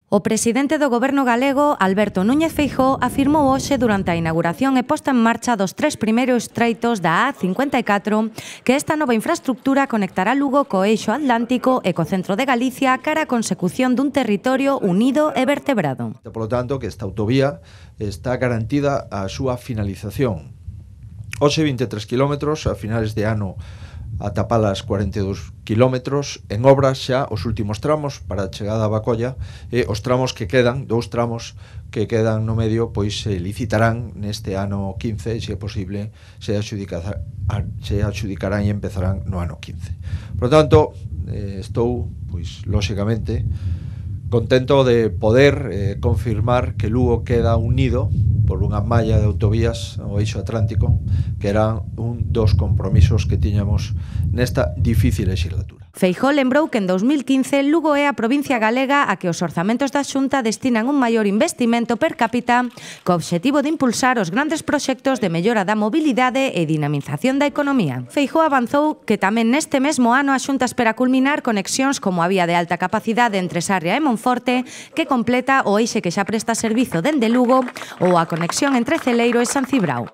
O presidente do Goberno galego, Alberto Núñez Feijóo, afirmou hoxe durante a inauguración e posta en marcha dos 3 primeiros estreitos da A54 que esta nova infraestructura conectará Lugo co eixo atlántico e co centro de Galicia cara á consecución dun territorio unido e vertebrado. Por lo tanto, que esta autovía está garantida a súa finalización. Hoxe 23 kilómetros, a finales de ano ata Palas 42 kilómetros, en obras xa os últimos tramos para a chegada a Bacolla, e os tramos que quedan, dous tramos que quedan no medio, pois se licitarán neste ano 15, se é posible, se adxudicarán e empezarán no ano 15. Por lo tanto, estou, pois, lóxicamente, contento de poder confirmar que Lugo queda unido por unha malla de autovías ao eixo atlántico, que era un dos compromisos que tiñamos nesta difícil legislatura. Feijóo lembrou que en 2015 Lugo é a provincia galega a que os orzamentos da Xunta destinan un maior investimento per cápita co obxectivo de impulsar os grandes proxectos de mellora da mobilidade e dinamización da economía. Feijóo avanzou que tamén neste mesmo ano a Xunta espera culminar conexións como a vía de alta capacidade entre Sarria e Monforte, que completa o eixe que xa presta servizo dende Lugo, ou a conexión entre Celeiro e San Cibrao.